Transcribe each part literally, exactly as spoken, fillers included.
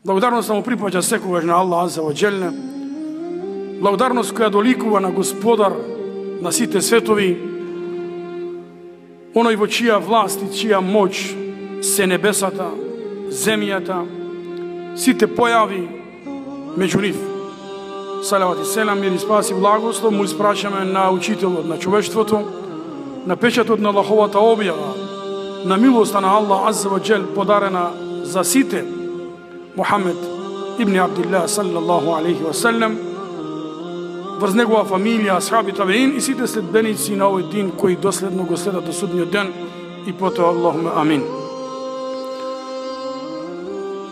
Благодарност му припаѓа секогаш на Аллах Азza wa Jalla. Благодарност која доликува на Господар на сите светови, оној во чија власт и чија моќ се небесата, земјата, сите појави меѓу нив. Салават и селам, мир и спас и благослов му испрашаме на учителот на човештвото, на печатот на Аллаховата објава, на милоста на Аллах Азza wa Jalla подарена за сите, Мухамед ибн Абдилlah саллаллаху алейхи ва саллем, врз негова фамилија, асхаби, табеин и сите следбеници на овој дин кои доследно го следат до судниот ден и потоа Аллахуме амин.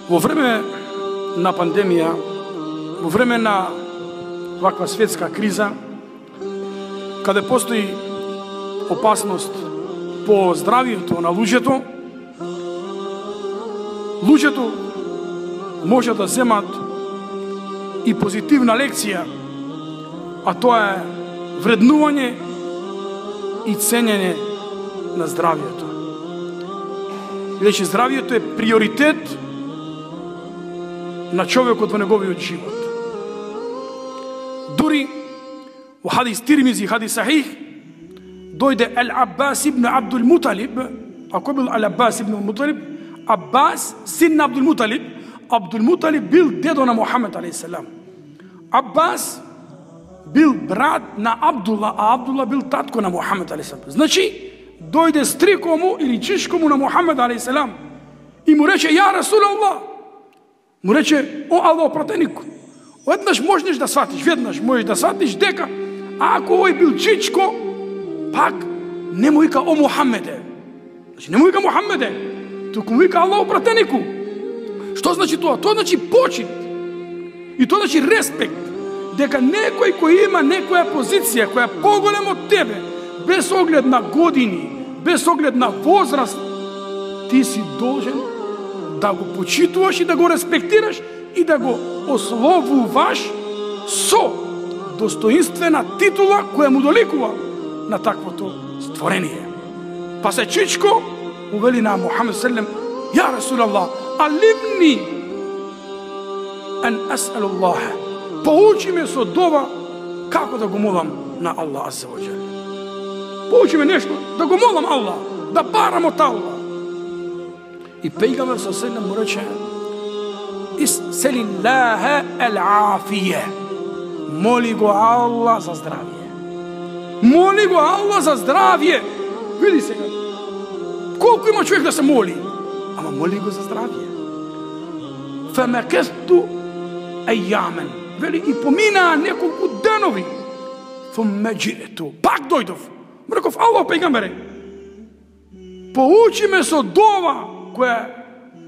Во време на пандемија, во време на ваква светска криза, каде постои опасност по здравието на луѓето, луѓето може да земат и позитивна лекција, а тоа е вреднување и ценење на здравието. Бидејќи здравието е приоритет на човекот во неговиот живот. Дури во хадис Тирмизи, хадис Сахих, дојде Ал-Аббас ибн Абдул Муталиб, а кој бил Ал-Аббас ибн Муталиб? Аббас, син на Абдул Муталиб. Абдул Муталиб бил дедо на Мухамед алейхиссалам. Аббас бил брат на Абдула, а Абдула бил татко на Мухамед алейхиссалам. Значи, дојде стрико му или чичко му на Мухамед алейхиссалам и му рече: "Ја Расулаллах", му рече: "О Аллах пратеник, веднаш можеш да сватиш, веднаш можеш да сватиш дека ако овој бил чичко, пак не му вика о Мухамеде. Значи, не му вика Мухамеде, туку му вика Аллах пратенику." Што значи тоа? Тоа значи почит. И тоа значи респект. Дека некој кој има некоја позиција која е поголема од тебе, без оглед на години, без оглед на возраст, ти си должен да го почитуваш и да го респектираш и да го ословуваш со достоинствена титула која му доликува на таквото створение. Па се чичко увели на Мухамед селем: "Ја Расулаллах, алимни ан ас'алуллах." Поучи ме со дова како да го молам на Аллах Азza wa Jalla. Поучи ме нешто да го молам Аллах, да барам од Аллах. И пејгамбер со селем му рече: "Ис'алиллаха ал-афија." Моли го Аллах за здравје. Моли го Аллах за здравје. Види сега, колку има човек да се моли, ама моли го за здравје. Фамакесту ајамен. Вели, и помина неколку денови. Фумме джиету. Пак дојдов. Му реков: "Аллах пејгамбере, поучи ме со дова која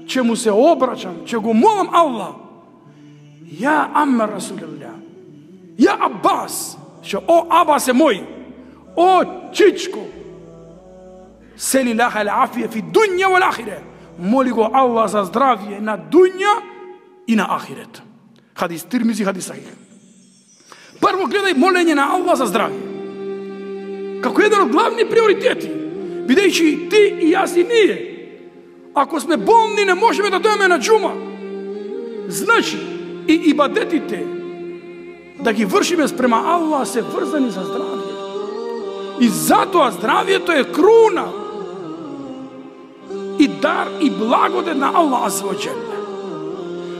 ќе му се обрачам, ќе го молам Аллах. Ја Амма Расулилlah, ја Аббас, што о Абас е мој, о чичко, селилаха ал-афија фи дуња вал ахире." Моли го Аллах за здравје на дуња и на ахирет. Хадис Тирмизи, хадис Сахих. Прво гледај молење на Аллах за здравје како еден од главни приоритети, бидејќи ти и јас и ние, ако сме болни, не можеме да дојдеме на џума. Значи, и ибадетите да ги вршиме спрема Аллах се врзани за здравје. И затоа здравјето е круна и дар и благодет на Аллах Азza wa Jalla.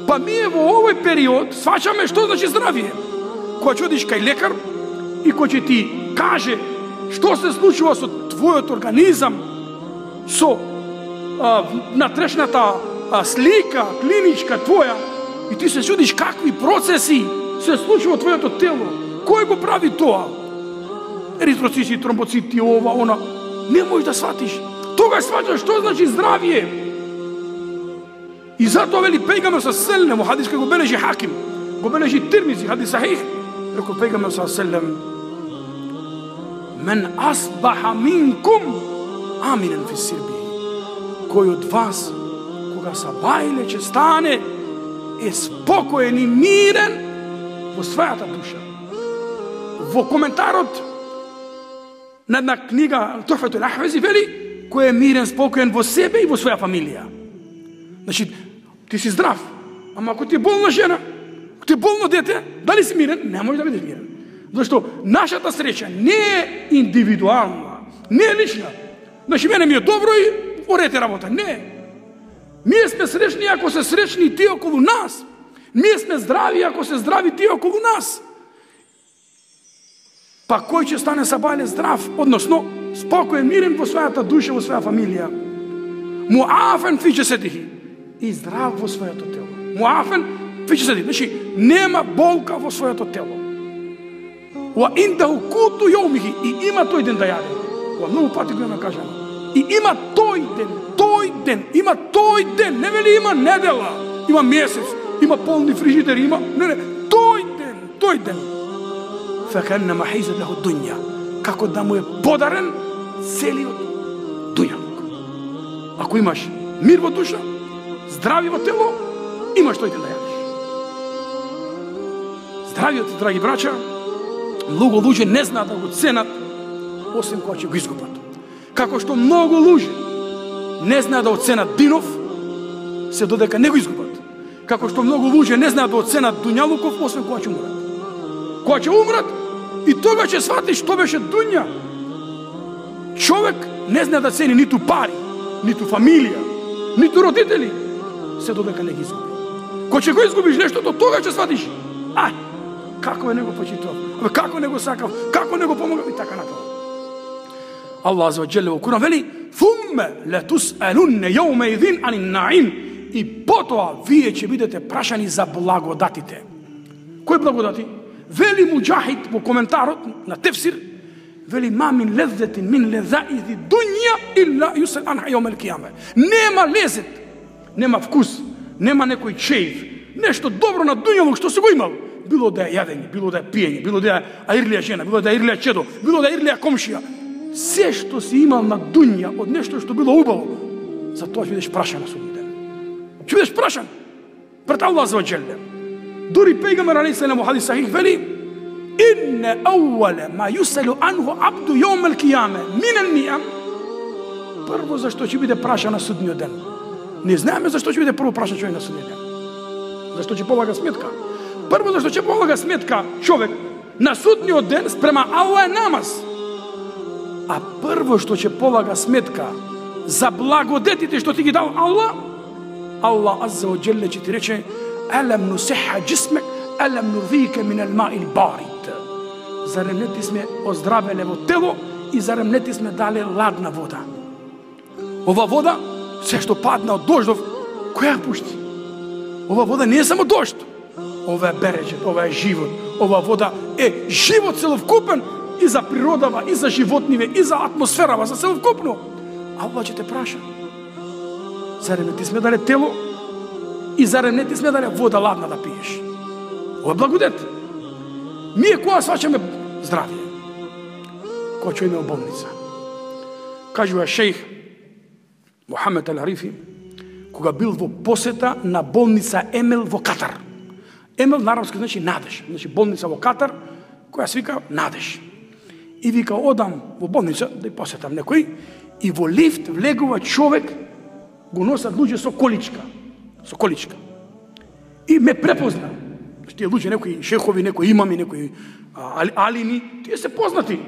Па ние во овој период сваќаме што значи здравје. Кога ќе одиш кај лекар и кој ќе ти каже што се случува со твојот организам, со а, натрешната а, слика клиничка твоја, и ти се чудиш какви процеси се случува во твоето тело. Кој го прави тоа? Еритроцити, тромбоцити, ова, она. Не можеш да сватиш. Тогаш сваќаш што значи здравје. И затоа вели пејгамбер со селем, во хадис кој го бележи Хаким, го бележи Тирмизи, хадис Сахих, рекол пејгамбер со селем: "Мен асбаха минкум аминен фи сирби." Кој од вас, кога сабајле ќе стане, е спокоен и мирен во својата душа. Во коментарот на една книга Тухфатул Ахвези вели: "Кој е мирен, спокоен во себе и во своја фамилија." Значи, ти си здрав, Ама ако ти е болна жена, ако ти е болно дете, дали си мирен? Не може да бидеш мирен. Зашто нашата среќа не е индивидуална, не е лична. Значи, мене ми е добро и орете работа. Не. Ние сме сречни ако се сречни тие околу нас. Ние сме здрави ако се здрави тие околу нас. Па кој ќе стане сабале здрав, односно спокоен, мирен во својата душа, во своја фамилија. Муафен фи џеседихи, и здрав во своето тело. Муафен фи џеседихи, значи нема болка во своето тело. Ва индаху куту јаумихи, и има тој ден да јаде. Ова многу пати го има кажано. И има тој ден, тој ден, има тој ден, не вели има недела, има месец, има полни фрижидери, има, не, не, тој ден, тој ден. Фекеннема хейзет леху дуња, како да му е подарен целиот дуњалук. Ако имаш мир во душа, здрави во тело, имаш тој ден да јадеш. Здравиот, драги брача, многу луѓе не знаат да го ценат, освен кога ќе го изгубат. Како што многу луѓе не знаат да оценат динов, се додека не го изгубат. Како што многу луѓе не знаат да оценат дуњалуков, освен кога ќе умрат. Кога ќе умрат, и тога ќе сватиш што беше дуња. Човек не знае да цени ниту пари, ниту фамилија, ниту родители, се додека не ги изгуби. Кога ќе го изгубиш нештото, тога ќе сватиш, ај, како е него почитував, како не го сакав, како не го помогав и така натаму. Allah azza wa jalla во Куран вели: "Thumma la tus'alunna yawma idhin 'anil na'im", и потоа вие ќе бидете прашани за благодатите. Кои благодати? Вели Муџахид во коментарот на тефсир, вели: "Ма мин леззатин мин лезаизи дуња илла юсал анха јаумал кијама". Нема лезет, нема вкус, нема некој чеив, нешто добро на дуњалук што си го имал. Било да е јадење, било да е пиење, било да е аирлија жена, било да е аирлија чедо, било да е аирлија комшија. Се што си имал на дуња од нешто што било убаво, за тоа ќе бидеш прашан на судниот ден. Ќе бидеш прашан пред Аллах азza wa jalla. Дури пејгамбер алейхи селам во хадис сахих вели: "Инна ауала ма юсалу анху абду јаумал кијама мин ниам". Прво зашто ќе биде прашан на судниот ден. Не знаеме зашто ќе биде прво прашан човек на судниот ден. Зашто ќе полага сметка. Прво зашто ќе полага сметка човек на судниот ден спрема Аллах е намаз. А прво што ќе полага сметка за благодетите што ти ги дал Аллах, Аллах азza wa jalla ќе ти рече: "Алам нусиха джисмек, алам нурвика мин ал-ма'ил барид". Зарем не ти сме оздравеле во тело и зарем не ти сме дале ладна вода. Ова вода, се што падна од дождов, која пушти? Ова вода не е само дожд. Ова е береџет, ова е живот. Ова вода е живот целовкупен и за природава, и за животниве, и за атмосферава, за целовкупно. Аллах ќе те праша. Зарем не ти сме дале тело и зарем не ти сме дале вода ладна да пиеш? Ова е благодет. Ние кога сваќаме здравие? Кога ќе име болница? Кажува шејх Мухамед Ал-Арифи, кога бил во посета на болница Емел во Катар. Емел на арапски значи надеж, значи болница во Катар, која се вика надеж. И вика: "Одам во болница да ја посетам некој", и во лифт влегува човек, го носат луѓе со количка, со количка. И ме препозна. Тие луѓе, некои шехови, некои имами, некои а, алини, тие се познати.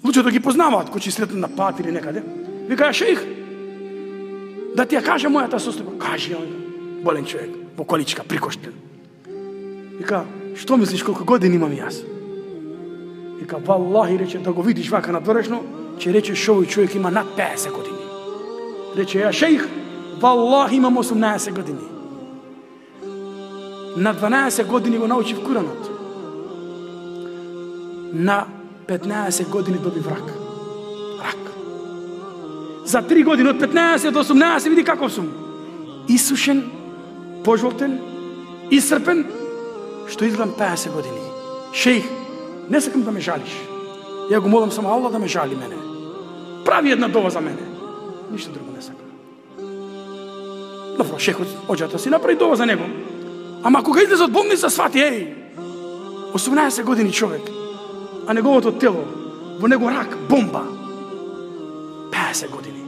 Луѓето ги познаваат, кои ќе сретнат на пат или некаде. Вика: "Шејх, да ти ја кажа мојата состојба". Кажи, болен човек, во количка, прикоштен. Вика: "Што мислиш колку години имам јас?" Вика: "Валлахи", рече, "да го видиш вака надворешно, ќе речеш овој човек има над песет години". Рече: "Ја шејх, валлахи имам осумнаесет години. На дванаесет години го научив Куранот. На петнаесет години добив рак. Рак. За три години, од петнаесет до осумнаесет, види каков сум. Исушен, пожолтен, исцрпен, што изгледам песет години. Шејх, не сакам да ме жалиш. Ја го молам само Аллах да ме жали мене. Прави една дова за мене. Ништо друго не сакам." Добро, шехот, оđата си направи дова за него. Ама кога излезе од болница, свати: "Еј, осумнаесет години човек, а неговото тело, во него рак, бомба. песет години.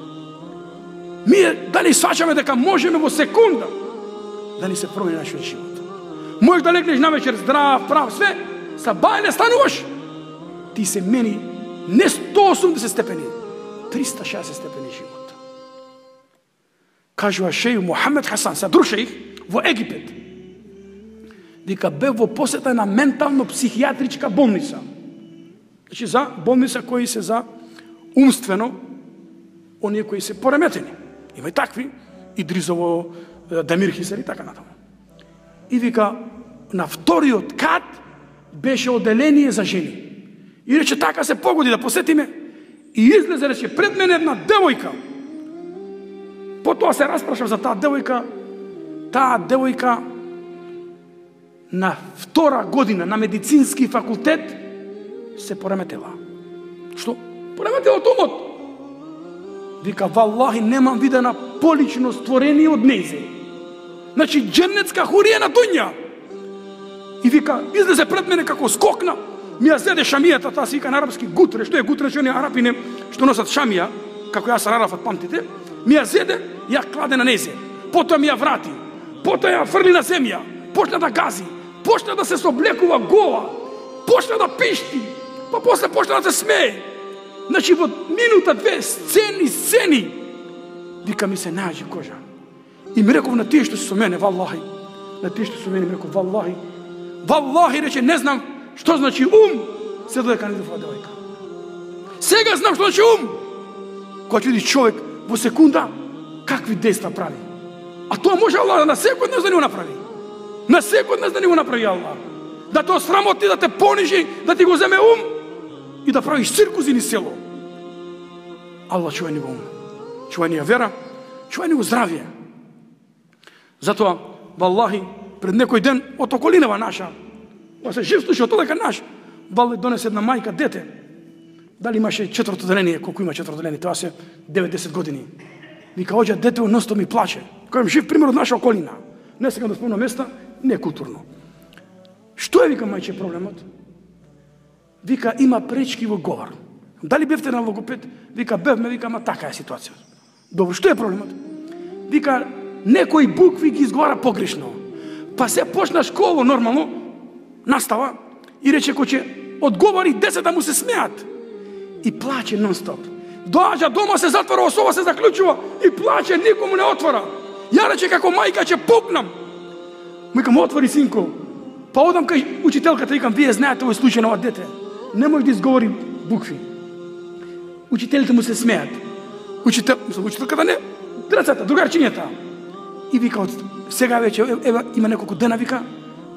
Ние дали сваќаме дека можеме во секунда да ни се промени нашиот живот. Можеш да легнеш на вечер здрав, прав, све, са бајле стануваш, ти се мени не сто осумдесет степени, триста шеесет степени живот. Кажува шејх Мухамед Хасан, са друг шејх, во Египет. Вика, бев во посета на ментално-психијатричка болница. Значи, за болница кои се за умствено, оние кои се пореметени. Има и такви, Идризово, Дамир Хисер и така натаму. И вика, на вториот кат беше оделение за жени. И рече, така се погоди да посетиме. И излезе, рече, пред мене една девојка. Потоа се распрашав за таа девојка. Таа девојка на втора година на медицински факултет се пореметела. Што? Пореметела тумот. Вика, валлахи, немам видена полично створение од нејзе. Значи, дженнетска хурија на дуња. И вика, излезе пред мене како скокна, ми ја зеде шамијата, таа се вика на арапски гутре. Што е гутре? Што не арапине што носат шамија, како јас Арафат памтите, ми ја зеде, ја кладе на незе. Потоа ми ја врати. Потоа ја фрли на земја. Почна да гази. Почна да се соблекува гола. Почна да пишти. Па после почна да се смее. Значи, во минута, две, сцени, сцени. Вика, ми се најаџи кожа. И ми реков на тие што се со мене, валлахи. На тие што се со мене ми реков, валлахи. Валлахи, рече, не знам што значи ум, се додека не дофува девојка. Сега знам што значи ум. Кога ќе видиш човек во секунда, какви дејства прави. А тоа може Аллах на секој од нас да не го направи. На секој од нас да не го направи Аллах. Да те осрамоти, да те понижи, да ти го земе ум и да правиш циркузи ни село. Аллах чувај ни го ум. Чувај ни ја вера, чувај ни го здравје. Затоа, валлахи, пред некој ден од околинава наша, па се жив слуша, тоа дека наш, валле донесе една мајка дете. Дали имаше четврто деление, колку има четврто деление, тоа се деветдесет години. Вика, оѓа дете носто ми плаче. Којам жив пример од наша околина. Не сега да спомнам места, не е културно. Што е, вика, мајче, проблемот? Вика, има пречки во говор. Дали бевте на логопед? Вика, бевме, вика, ма така е ситуација. Добро, што е проблемот? Вика, некои букви ги изговара погрешно. Па се почна школа нормално, настава, и рече кој ќе одговори десет да му се смеат. И плаче нон-стоп. Доаѓа дома, се затвора, особа се заклучува и плаче, никому не отвора. Ја рече како мајка ќе пукнам. Викам, отвори, синко. Па одам кај учителката и викам, вие знаете овој случај на ова дете. Не може да изговори букви. Учителите му се смеат. Учител, учителката не, драцата, другарчињата. И вика, сега вече, ева, има неколку дена, вика,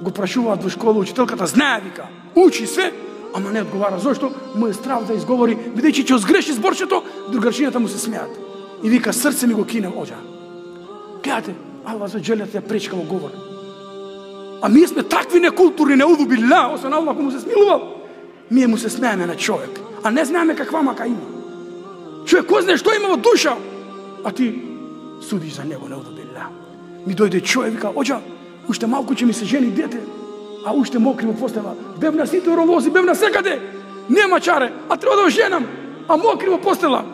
го прашуваат во школа, учителката знае, вика, учи све, ама не одговара. Зошто? Му е страв да изговори, бидејќи ќе згреши зборчето, другарчињата му се смеат. И вика, срце ми го кине, оѓа. Гледате, Аллах за джелјата ја пречка во говор. А ние сме такви некултурни, неуду билла, освен Аллах му се смилувал. Ние му се смееме на човек, а не знаеме каква мака има. Човек, кој знае што има во душа, а ти судиш за него, неуду билла. Ми дојде човек, вика, оѓа, уште малку ќе ми се жени дете, а уште мокри во постела. Бев на сите оровози, бев на секаде. Нема чаре, а треба да женам, а мокри во постела.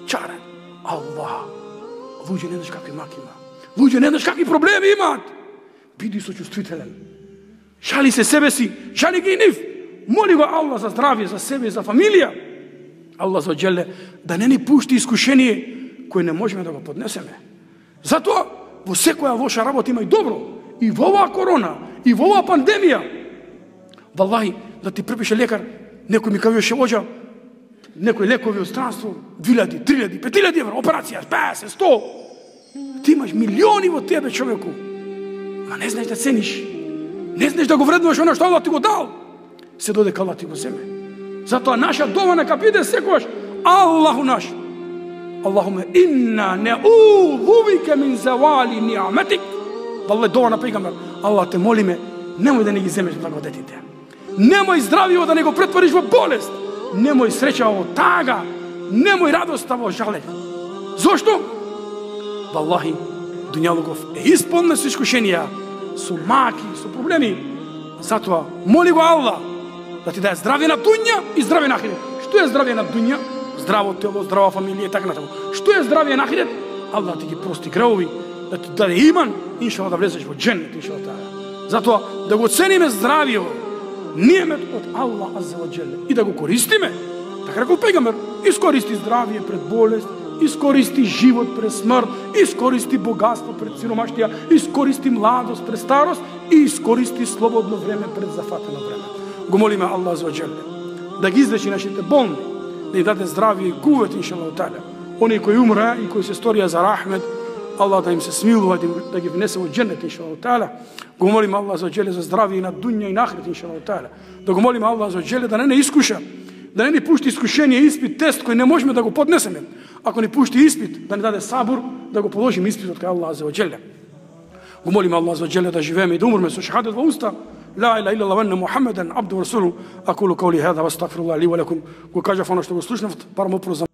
Чаре. Аллах. Луѓе не знаеш какви маки има. Луѓе не знаеш какви проблеми имаат. Биди сочувствителен. Шали се себе си, шали ги и нив. Моли го Аллах за здравје, за себе и за фамилија. Аллах за джеле да не ни пушти искушение кое не можеме да го поднесеме. Затоа во секоја лоша работа има и добро. И во оваа корона, и во оваа пандемија. Валлахи, да ти препише лекар, некој ми кажеше, оѓа, некои лекови од странство, две илјади, три илјади, пет илјади евра, операција, песет, сто. Ти имаш милиони во тебе, човеку. Ма не знаеш да цениш. Не знаеш да го вреднуваш оно што Аллах ти го дал. Се додека Аллах ти го земе. Затоа наша дова нека биде секогаш Аллаху наш. Аллахуме инна не'удhu бика мин завали ни'матик. Валле дова на пегамбер. Аллах те молиме, немој да не ги земеш благодетите. Немој здравијо да не го претвориш во болест. Немој среќа во тага. Немој радоста во жалење. Зошто? Валлахи, дуњалугов е исполнен со искушенија, со маки, со проблеми. Затоа, моли го Аллах да ти даде здравје на дуња и здравје на ахирет. Што е здравје на дуња? Здраво тело, здрава фамилија и така натаму. Што е здравје на ахирет? Аллах ти ги прости гревови, да ти даде иман, иншаллах да влезеш во џеннет, иншаллах. Затоа да го цениме здравието, ниемет од Аллах азза ва џеле, и да го користиме. Така рекол пегамбер, искористи здравие пред болест, искористи живот пред смрт, искористи богатство пред сиромаштија, искористи младост пред старост и искористи слободно време пред зафатено време. Го молиме Аллах азза ва џеле да ги излечи нашите болни, да им даде здравие и кувет, иншаллах таала. Они кои умреа и кои се сторија за рахмет, Аллах да им се смилува, да ги внесе во џеннет, иншаллах таала. Го молиме Аллах азза ва џеле за здравие и на дуња и на ахирет, иншаллах таала. Да го молиме Аллах азза ва џеле да не не искуша, да не ни пушти искушение, испит, тест кој не можеме да го поднесеме. Ако ни пушти испит, да ни даде сабур, да го положиме испитот кај Аллах азза ва џеле. Го молиме Аллах азза ва џеле да живееме и да умреме со шахадет во уста. لا إله إلا الله وأن محمدا عبده ورسوله. أقول قولي هذا واستغفر الله لي ولكم. Го кажав оно што го слушнав, парам опрозам.